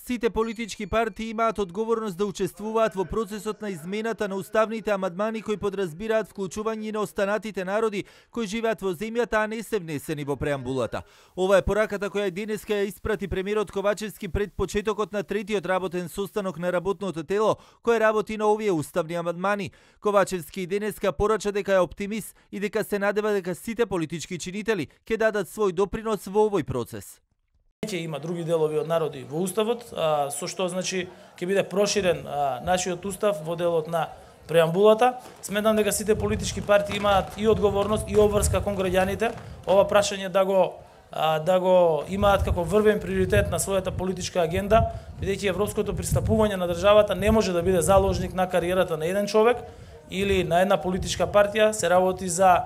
Сите политички партии имаат одговорност да учествуваат во процесот на измената на уставните амандмани кои подразбираат вклучување на останатите народи кои живеат во земјата, а не се внесени во преамбулата. Ова е пораката која денеска ја испрати премиерот Ковачевски пред почетокот на третиот работен состанок на работното тело кој работи на овие уставни амандмани. Ковачевски денеска порача дека е оптимист и дека се надева дека сите политички чинители ќе дадат свој допринос во овој процес. Ќе има други делови од народи во уставот, со што значи ќе биде проширен нашиот устав во делот на преамбулата. Сметам дека сите политички партии имаат и одговорност и обврска кон граѓаните ова прашање да го имаат како врвен приоритет на својата политичка агенда, бидејќи европското пристапување на државата не може да биде заложник на кариерата на еден човек или на една политичка партија, се работи за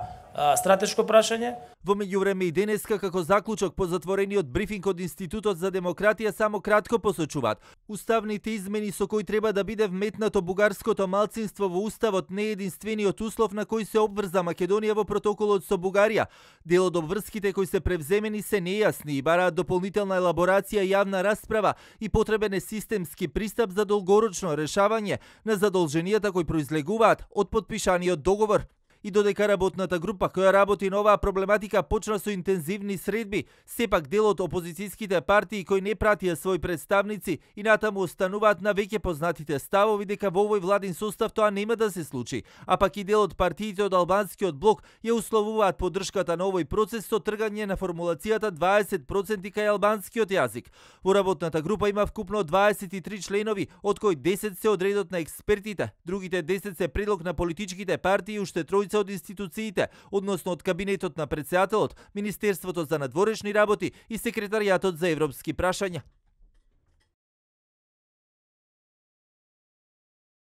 стратешко прашање. Во меѓувреме и денеска како заклучок по затворениот брифинг од Институтот за демократија само кратко посочуваат: уставните измени со кои треба да биде вметнато бугарското малцинство во уставот не е единствениот услов на кој се обврза Македонија во протоколот со Бугарија. Дел од обврските кои се превземени се нејасни и бараат дополнителна елаборација и јавна расправа и потребен е системски пристап за долгорочно решавање на задолженијата кои произлегуваат од потпишаниот договор. И додека работната група која работи на оваа проблематика почна со интензивни средби, сепак дел од опозицијските партии кои не пратија своји представници и натаму остануваат на веќе познатите ставови дека во овој владин состав тоа нема да се случи, а пак и дел од партиите од албанскиот блок ја условуваат поддршката на овој процес со тргање на формулацијата 20% кај албанскиот јазик. Во работната група има вкупно 23 членови, од кои 10 се од редот на експертите, другите 10 се предлог на политичките партии и уште тројца од институциите, односно од кабинетот на претседателот, Министерството за надворешни работи и Секретаријатот за европски прашања.